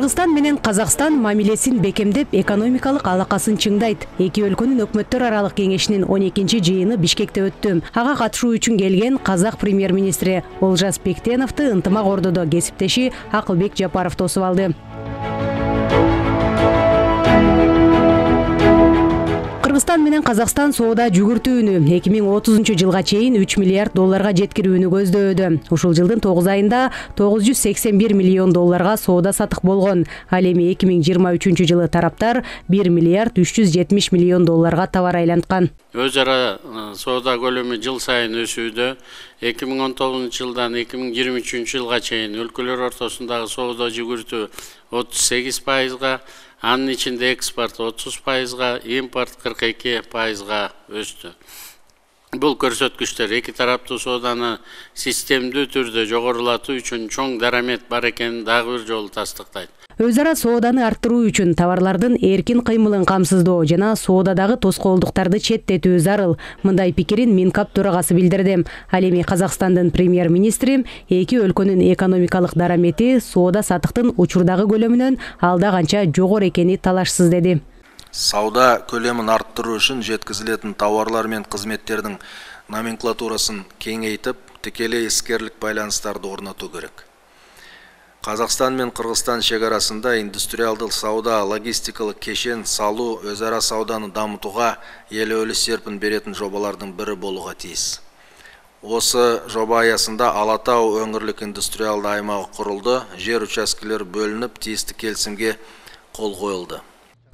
Кыргызстан менен Казакстан мамилесин бекемдеп, экономикалык алакасын чыңдайт. Эки өлкөнүн өкмөттөр аралык кеңешинин 12-чи жыйыны Бишкекте өттү. Ага катышуу үчүн келген Казак премьер-министри Олжас Бектеновду ынтымак ордодо кесиптеши Акылбек Жапаров тосуп алды. Кыргызстан менен Казакстан соода жүгүртүүнү 2030-жылга чейин 3 миллиард долларга жеткирүүнү көздөөдө. Ушул жылдын 9 айында 981 миллион долларга соода сатык болгон. Ал эми 2023-жылы тараптар 1 миллиард 370 миллион долларга товар айланткан. Өз ара соода көлөмү жыл сайын өсүүдө. 2019-жылдан 2023-жылга чейин өлкөлөр ортосундагы соода жүгүртүү 38%, анын ичинде экспорт 30%, импорт 42%га өстү. Бул көрсөткүчтөр эки тараптуу сооданы системдүү түрдө жогорулатуу үчүн чоң дарамет бар экенин дагы бир жолу тастыктайт. Өз ара сооданы арттыруу үчүн товарлардын эркин кыймылын камсыздоо жана соодадагы тоскоолдуктарды четтетүү зарыл. Мындай пикирин Минкап төрагасы билдирди. Ал эми Казакстандын премьер-министри эки өлкөнүн экономикалык дарамети соода сатыктын учурдагы көлөмүнөн алда канча жогору экени талашсыз деди. Сауда көлөмүн арттыруу үчүн жеткизилетін товарлар мен кызметтердин номенклатурасын кеңейтип, тикелей искерлик байланыштарды орнотуу керек. Казакстан мен Кыргызстан чек арасында индустриалдык сауда, логистикалык кешен салуу, өз ара сауданы дамытууга элеулүү серпин беретін жобалардын бири болууга тийиз. Осы жоба аясында Ала Тау өңүрлүк индустриалдык аймагы курулду, жер участкелери бөлүнүп, тийиштүү келисимге кол коюлду.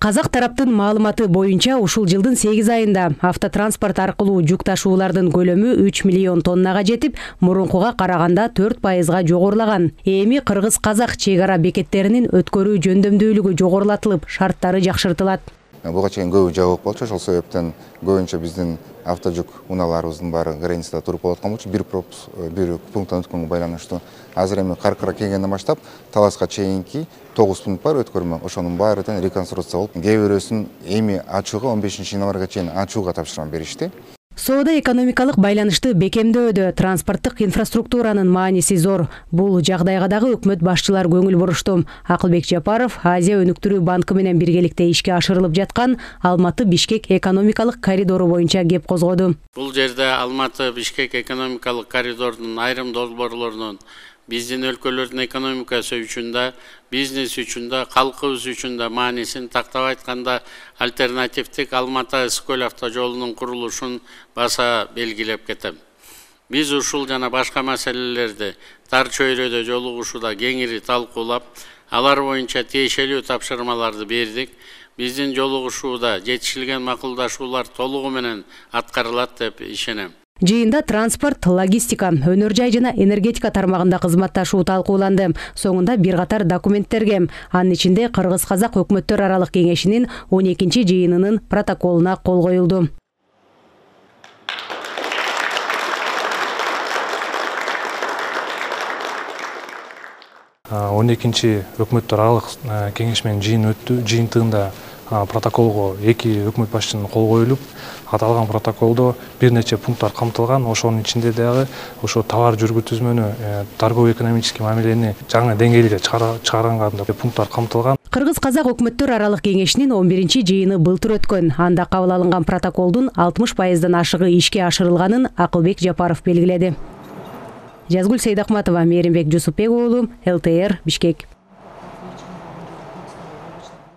Казак тараптын маалыматы боюнча ушул жылдын 8 айында автотранспорт аркылуу жүк ташуулардын көлөмү 3 миллион тоннага жетип, мурункуга караганда 4%га жогорулаган. Эми кыргыз-казак чек ара бекеттеринин өткөрүү жөндөмдүүлүгү жогорулатылып, шарттары жакшыртылат. Буга чейин көбү жабык болчу, ошол себептен көбүнчө биздин автожүк унааларыбыздын баары границада туруп болоткон болчу. Бир пункттан өткөнгө байланыштуу. Азыр эми Каркара келгенден баштап Таласка чейинки 9 пункт бар өткөрмө. Ошонун баары тең реконструкция болуп, кээ бирөөсүн эми ачууга 15-январга чейин ачууга тапшырма беришти. Соода экономикалык байланышты бекемдөөдө транспорттук инфраструктуранын мааниси зор. Бул жагдайга дагы өкмөт башчылар көңүл бурушту. Акылбек Жапаров Азия өнүктүрүү банкы менен биргеликте ишке ашырылып жаткан Алматы-Бишкек экономикалык коридору боюнча кеп козгоду. Бул жерде Алматы-Бишкек экономикалык коридорунун айрым долбоорлорунун биздин өлкөлөрдүн экономикасы үчүн да, бизнес үчүн да, калкыбыз үчүн да маанисин тактап айтканда альтернативдик Алматы-Ысык-Көл автожолунун курулушун баса белгилеп кетем. Биз ушул жана башка маселелерди тар чөйрөдө жолугушууда кеңири талкуулап, алар боюнча тиешелүү тапшырмаларды бердик. Биздин жолугушууда жетишилген макулдашуулар толугу менен аткарылат деп ишенем. Жыйында транспорт, логистика, өнөр жай жана энергетика тармагында кызматташуу талкууланды. Соңунда бир катар документтерге, анын ичинде Кыргыз-казак өкмөттөр аралык кеңешинин 12-чи жыйынынын протоколуна кол коюлду. Өкмөттөр аралык кеңеш менен жыйын өттү. Жыйынтыгында протоколго эки өкмөт башчынын кол коюлуп, аталган протоколдо бир нече пункттар камтылган. Ошонун ичинде дагы ошо товар жүргүзмөнү, торгово-экономический мамилени жаңы деңгээлге чыгарганга пункттар камтылган. Кыргыз-казак өкмөттөр аралык кеңешинин 11-чи жыйыны былтыр өткөн. Анда кабыл алынган протоколдун 60%дан ашыгы ишке ашырылганын Акылбек Жапаров белгиледи. Жазгүл Сейдахматова, Мээримбек Жусупбек уулу, ЛТР, Бишкек.